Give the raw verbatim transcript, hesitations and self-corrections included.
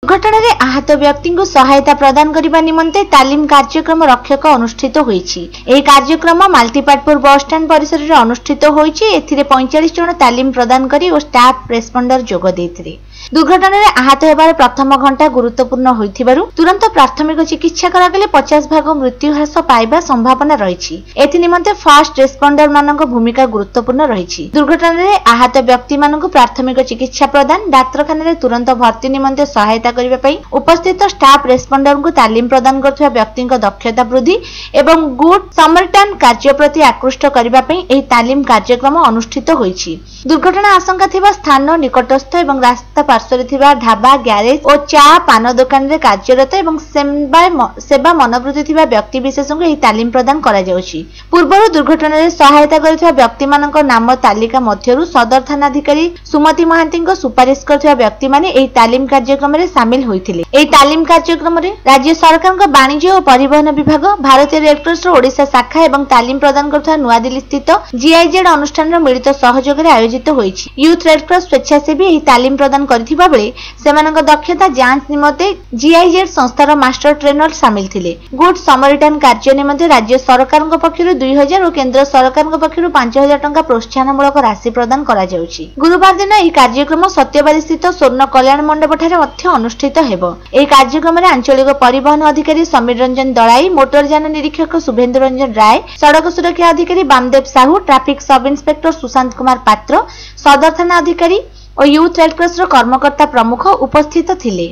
ଘଟଣାରେ ଆହତ ବ୍ୟକ୍ତିଙ୍କୁ ସହାୟତା ପ୍ରଦାନ କରିବା ନିମନ୍ତେ ତାଲିମ କାର୍ଯ୍ୟକ୍ରମ ରକ୍ଷକ ଅନୁଷ୍ଠିତ ହୋଇଛି। ଏହି କାର୍ଯ୍ୟକ୍ରମ ମାଲତିପାଟପୁର ବସଷ୍ଟାଣ୍ଡ ପରିସରରେ ଅନୁଷ୍ଠିତ ହୋଇଛି। ଏଥିରେ ପଇଁଚାଳିଶ ଜଣ ତାଲିମ ପ୍ରଦାନକାରୀ ଓ ଷ୍ଟାଫ ରେସ୍ପଣ୍ଡର ଯୋଗ ଦେଇଥିଲେ। ଦୁର୍ଘଟଣାରେ ଆହତ ହେବାର ପ୍ରଥମ ଘଣ୍ଟା ଗୁରୁତ୍ୱପୂର୍ଣ୍ଣ ହୋଇଥିବାରୁ ତୁରନ୍ତ ପ୍ରାଥମିକ ଚିକିତ୍ସା କରାଗଲେ ପଚାଶ ଭାଗ ମୃତ୍ୟୁ ହ୍ରାସ ପାଇବା ସମ୍ଭାବନା ରହିଛି। ଏଥି ନିମନ୍ତେ ଫାଷ୍ଟ ରେସ୍ପଣ୍ଡରମାନଙ୍କ ଭୂମିକା ଗୁରୁତ୍ୱପୂର୍ଣ୍ଣ ରହିଛି। ଦୁର୍ଘଟଣାରେ ଆହତ ବ୍ୟକ୍ତିମାନଙ୍କୁ ପ୍ରାଥମିକ ଚିକିତ୍ସା ପ୍ରଦାନ, ଡାକ୍ତରଖାନାରେ ତୁରନ୍ତ ଭର୍ତ୍ତି ନିମନ୍ତେ ସହାୟତା କରିବା ପାଇଁ ଉପସ୍ଥିତ ଷ୍ଟାଫ ରେସ୍ପଣ୍ଡରଙ୍କୁ ତାଲିମ ପ୍ରଦାନ କରୁଥିବା ବ୍ୟକ୍ତିଙ୍କ ଦକ୍ଷତା ବୃଦ୍ଧି ଏବଂ ଗୁଡ୍ ସମରିଟାନ କାର୍ଯ୍ୟ ପ୍ରତି ଆକୃଷ୍ଟ କରିବା ପାଇଁ ଏହି ତାଲିମ କାର୍ଯ୍ୟକ୍ରମ ଅନୁଷ୍ଠିତ ହୋଇଛି। ଦୁର୍ଘଟଣା ଆଶଙ୍କା ଥିବା ସ୍ଥାନ ନିକଟସ୍ଥ ଏବଂ ରାସ୍ତା ପାର୍ଶ୍ୱରେ ଥିବା ଢାବା, ଗ୍ୟାରେଜ ଓ ଚା ପାନ ଦୋକାନରେ କାର୍ଯ୍ୟରତ ଏବଂ ସେବା ମନୋବୃତ୍ତି ଥିବା ବ୍ୟକ୍ତିବିଶେଷଙ୍କୁ ଏହି ତାଲିମ ପ୍ରଦାନ କରାଯାଉଛି। ପୂର୍ବରୁ ଦୁର୍ଘଟଣାରେ ସହାୟତା କରିଥିବା ବ୍ୟକ୍ତିମାନଙ୍କ ନାମ ତାଲିକା ମଧ୍ୟରୁ ସଦର ଥାନାଧିକାରୀ ସୁମତି ମହାନ୍ତିଙ୍କ ସୁପାରିଶ କରିଥିବା ବ୍ୟକ୍ତିମାନେ ଏହି ତାଲିମ କାର୍ଯ୍ୟକ୍ରମରେ ସାମିଲ ହୋଇଥିଲେ। ଏହି ତାଲିମ କାର୍ଯ୍ୟକ୍ରମରେ ରାଜ୍ୟ ସରକାରଙ୍କ ବାଣିଜ୍ୟ ଓ ପରିବହନ ବିଭାଗ, ଭାରତୀୟ ରେଡକ୍ରସର ଓଡ଼ିଶା ଶାଖା ଏବଂ ତାଲିମ ପ୍ରଦାନ କରୁଥିବା ନୂଆଦିଲ୍ଲୀ ସ୍ଥିତ ଜିଆଇଜେଡ୍ ଅନୁଷ୍ଠାନର ମିଳିତ ସହଯୋଗରେ ଆୟୋଜିତ ହୋଇଛି। ୟୁଥ୍ ରେଡକ୍ରସ ସ୍ୱେଚ୍ଛାସେବୀ ଏହି ତାଲିମ ପ୍ରଦାନ କରିଥିବା ବେଳେ ସେମାନଙ୍କ ଦକ୍ଷତା ଯାଞ୍ଚ ନିମନ୍ତେ ଜିଆଇଜେଡ୍ ସଂସ୍ଥାର ମାଷ୍ଟର ଟ୍ରେନର ସାମିଲ ଥିଲେ। ଗୁଡ୍ ସମରିଟାନ କାର୍ଯ୍ୟ ନିମନ୍ତେ ରାଜ୍ୟ ସରକାରଙ୍କ ପକ୍ଷରୁ ଦୁଇ ହଜାର ଓ କେନ୍ଦ୍ର ସରକାରଙ୍କ ପକ୍ଷରୁ ପାଞ୍ଚ ହଜାର ଟଙ୍କା ପ୍ରୋତ୍ସାହନମୂଳକ ରାଶି ପ୍ରଦାନ କରାଯାଉଛି। ଗୁରୁବାର ଦିନ ଏହି କାର୍ଯ୍ୟକ୍ରମ ସତ୍ୟବାଦୀ ସ୍ଥିତ ସ୍ୱର୍ଣ୍ଣ କଲ୍ୟାଣ ମଣ୍ଡପଠାରେ ମଧ୍ୟ ଅନୁଷ୍ଠିତ ହେବ। ଏହି କାର୍ଯ୍ୟକ୍ରମରେ ଆଞ୍ଚଳିକ ପରିବହନ ଅଧିକାରୀ ସମୀର ରଞ୍ଜନ ଦଳାଇ, ମୋଟରଯାନ ନିରୀକ୍ଷକ ଶୁଭେନ୍ଦୁ ରଞ୍ଜନ ରାୟ, ସଡ଼କ ସୁରକ୍ଷା ଅଧିକାରୀ Bamdev Sahu, traffic sub inspector Sushant Kumar Patra, ସଦର ଥାନା ଅଧିକାରୀ ଓ ୟୁଥ୍ ରେଡକ୍ରସର କର୍ମକର୍ତ୍ତା ପ୍ରମୁଖ ଉପସ୍ଥିତ ଥିଲେ।